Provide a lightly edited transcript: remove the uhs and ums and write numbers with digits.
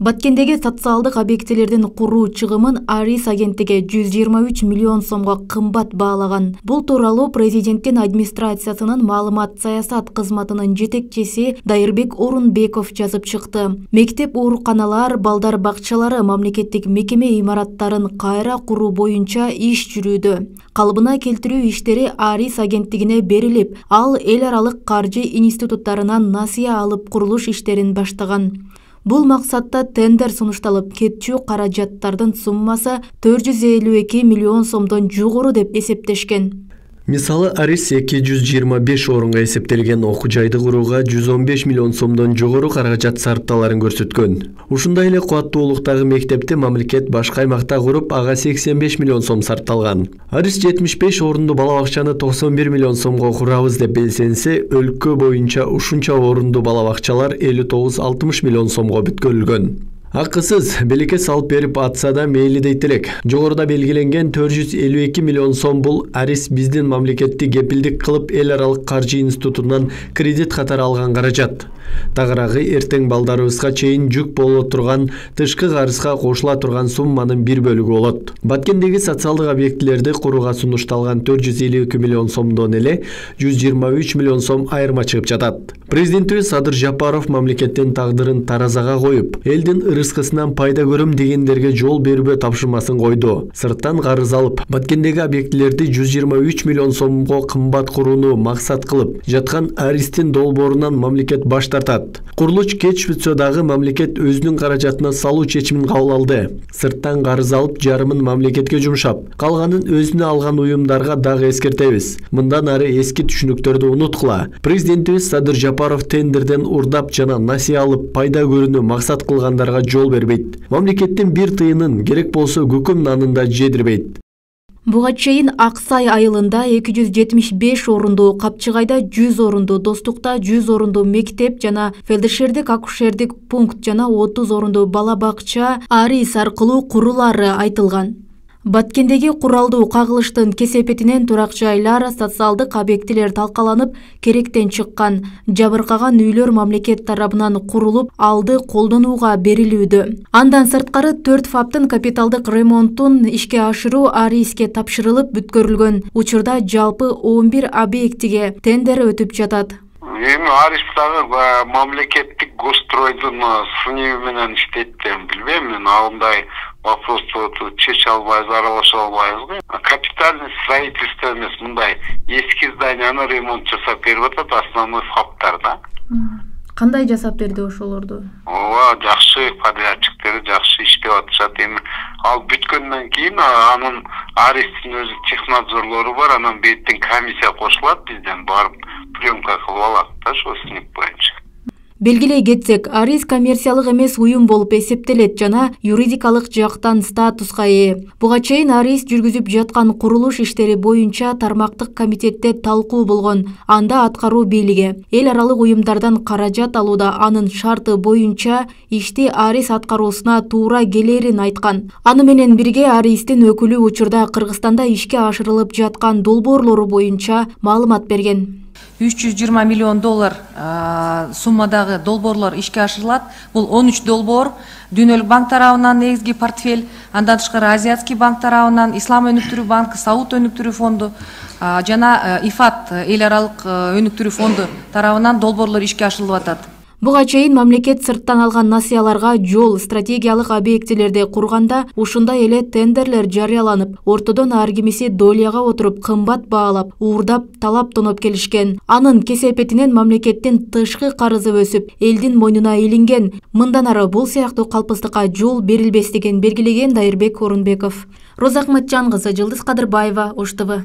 Баткендеги социалдык объектилердин куруу чыгымын Арис агенттиги 123 миллион сомго кымбат баалаган. Бул тууралуу президенттин администрациясынын маалымат саясат кызматынын жетекчиси Дайырбек Орунбеков жазып чыкты. Мектеп, ооруканалар, балдар бакчалары мамлекеттик мекеме имараттарын кайра куруу боюнча иш жүрүүдө. Калыбына келтирүү иштери Арис агенттигине берилип, ал эл аралык каржы институттарынан насыя алып курулуш иштерин баштаган. Бул максатта тендер сунушталып, кетчү каражаттардын суммасы 452 миллион сомдон жогору деп эсептешкен. Мисалы, Арис 225 орунга эсептелген окуу жайды курууга 115 миллион сомдон жогору каражат сарпталарын көрсөткөн. Ушундай эле кубаттуулуктагы мектепти мамлекет башка аймакта куруп, ага 85 миллион сом сарпталган. Арис 75 орунду бала бакчаны 91 миллион сомго курабыз деп белсенсе, өлкө боюнча ушунча орунду бала бакчалар 59-60 миллион сомго бүткөрүлгөн. Акысыз белекке салып берип атса да мейли дейт элек. Жогоруда белгиленген 452 миллион сом бул Арис биздин мамлекетти кепилдик кылып эл аралык каржы институтунан кредит катары алган каражат. Тагыраагы эртең балдарыбызга чейин жүк боло турган тышкы карызга кошула турган сумманын бир бөлүгү болот. Баткендеги социалдык объектилерди курууга сунушталган 452 миллион сомдон эле 123 миллион сом айырма чыгып жатат. Президентибиз Садыр Жапаров мамлекеттин тагдырын таразага коюп, элдин ырыскысынан пайда көрөм дегендерге жол бербөө тапшырмасын койду. Сырттан карыз алып, Баткендеги объектилерди 123 миллион сомго кымбат курууну максат кылып жаткан Аристин долбоорунан мамлекет баш тартат. Курулуш кеч бүтсө дагы мамлекет өзүнүн каражатына салуу чечимин кабыл алды. Сырттан карыз алып, жарымын мамлекетке жумшап, калганын өзүнө алган уюмдарга дагы эскертебиз. Мындан ары эски түшүнүктөрдү унуткула. Президентибиз Садыр Жапаров тендерден урдап жана насыя алып пайда көрүүнү максат кылгандарга жол бербейт. Мамлекеттин бир тыйынын керек болсо көкөм нанында жедирбейт. Буга чейин Аксай айылында 275 орунду, Капчыгайда 100 орунду, Достукта 100 орунду мектеп жана фельдшердик акушердик пункт жана 30 орунду бала бакча Арис аркылуу курулары айтылган. Баткендеги куралдуу кагылыштын кесепетинен турак жайлар, социалдык объектилер талкаланып, керектен чыккан. Жабыркаган үйлөр мамлекет тарабынан курулуп, алды колдонууга берилүүдө. Андан сырткары 4 фаптын капиталдык ремонтун ишке ашыруу Ариске тапшырылып бүткөрүлгөн. Учурда жалпы 11 объектиге тендер өтүп жатат. Эми Ариштагы мамлекеттик гостройдун сыныбы менен иштейт деп билбейм. Мен андай вопросту чече албайбыз, аралаша албайбыз. Капитальный строительство эмес, мындай эски зданияны ремонт жасап берип атат, основной фаптарда. Кандай жасап берди ошолорду? Ооба, жакшы подрядчиктери жакшы иштеп атышат. Эми ал бүткөндөн кийин анын Аристин өзү технадзорлору бар, анан беттен комиссия кошулат, бизден барып приемка кылып алат да ошо сынып боюнча. Белгилей кетсек, Арис коммерциялык эмес уюм болуп эсептелет жана юридикалык жактан статуска ээ. Буга чейин Арис жүргүзүп жаткан курулуш иштери боюнча тармактык комитетте талкуу болгон. Анда аткаруу бийлиги эл аралык уюмдардан каражат алууда анын шарты боюнча ишти Арис аткаруусуна туура келерин айткан. Аны менен бирге Аристин өкүлү учурда Кыргызстанда ишке ашырылып жаткан долбоорлору боюнча маалымат берген. 320 миллион доллар суммадагы долбоорлор ишке ашырылат. Бул 13 долбоор Дүйнөлүк банк тарабынан негизги портфель, андан тышкары Азиатский банк тарабынан, Ислам өнүктүрүү банкы, Сауд өнүктүрүү фонду жана ИФАТ эл аралык өнүктүрүү фонду тарабынан долбоорлор ишке ашырылып атат. Буга чейин мамлекет сырттан алган насыяларга жол, стратегиялык объектилерди курганда ушундай эле тендерлер жарыяланып, ортодон ар кимиси долияга отуруп кымбат баалап, уурдап, талап тоноп келишкен. Анын кесепетинен мамлекеттин тышкы карызы өсүп, элдин мойнуна илинген. Мындан ары бул сыяктуу калпыстыкка жол берилбестигин белгилеген Дайырбек Орунбеков. Роза Акматжан кызы, Жылдыз Кадырбаева, Ош ТВ.